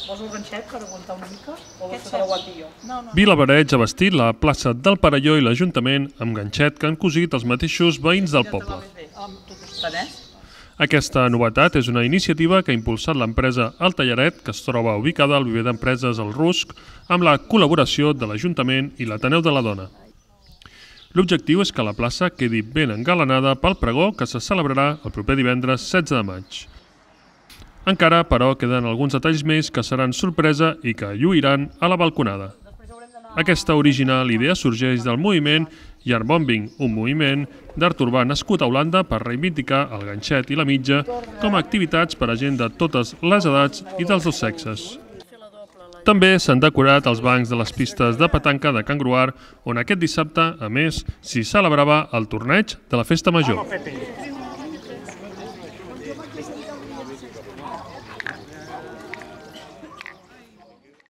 Vols el ganxet per aguantar una mica? O vols que te l'aguanti jo? Vilabareig ha vestit la plaça del Perelló i l'Ajuntament amb ganxet que han cosit els mateixos veïns del poble. Aquesta novetat és una iniciativa que ha impulsat l'empresa El Tallaret, que es troba ubicada al viver d'empreses El Rusc, amb la col·laboració de l'Ajuntament i l'Ateneu de la Dona. L'objectiu és que la plaça quedi ben engalanada pel pregó que se celebrarà el proper divendres 16 de maig. Encara, però, queden alguns detalls més que seran sorpresa i que lluiran a la balconada. Aquesta original idea sorgeix del moviment Yardbombing, un moviment d'art urbà nascut a Holanda per reivindicar el ganxet i la mitja com a activitats per a gent de totes les edats i dels dos sexes. També s'han decorat els bancs de les pistes de petanca de Can Gruar, on aquest dissabte, a més, s'hi celebrava el torneig de la Festa Major.